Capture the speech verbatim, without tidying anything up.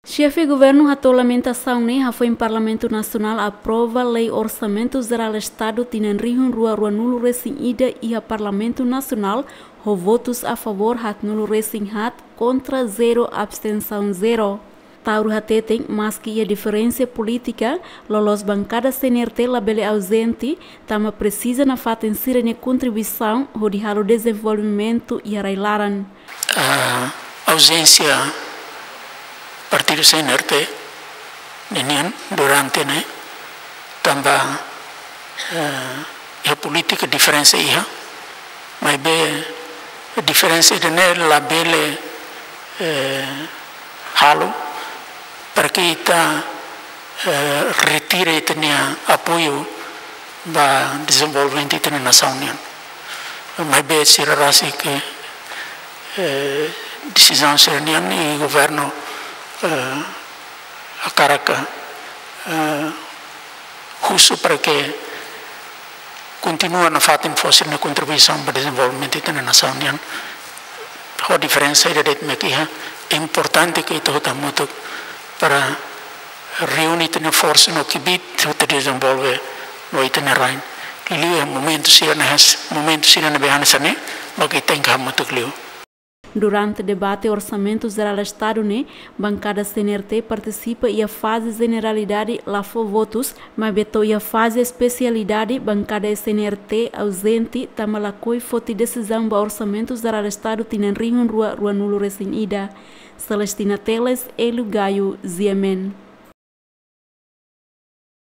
Xefe Governu hato'o lamentasaun ne'e hafoin Parlamentu Nasionál aprova Lei Orsamentu Jerál Estadu tinan rihun rua ruanulu resin ida iha Parlamentu Nasionál, ho votus a favór haatnulu resin haat, kontra zero, abstensaun zero. Taur hateten, maski iha diferensa polítika, loloos bankada C N R T labele auzente, tanba presiza nafatin sira-nia kontribuisaun hodi halo dezenvolvimentu iha rai-laran. Ah, auzénsia partidu C N R T ninian durante ne'e, tanba, eh, iha polítika diferensa iha, maibé diferensa ida-ne'e labele, eh, halo para ke ita, eh, retira ita-nia apoiu ba dezenvolvimentu ita-nia nasaun nian. Maibé sira rasik, eh, desizaun sira-nian i governu, eh, hakarak, eh, husu para ke kontinua nafatin fó sira-nia kontribuisaun ba dezenvolvimentu ita-nia nasaun nian. Ho diferensa ida de'it mak iha, importante ke ita hotu hamutuk para reúne ita-nia forsa no kbiit, ita dezenvolve no ita-nia rain. Liuliu iha momentu sira-ne'e, momentu sira ne'ebé hanesan ne'e, mak ita tenke hamutuk liu. Durante debate Orsamentu Jerál Estadu ne'e, bankada C N R T partisipa iha faze jeneralidade la fó votus, maibé to'o iha faze espesialidade, bankada C N R T auzente, tanba lakohi foti desizaun ba Orsamentu Jerál Estadu tinan rihun rua ruanulu resin ida. Celestina Teles, Hélio Gaio, G M N.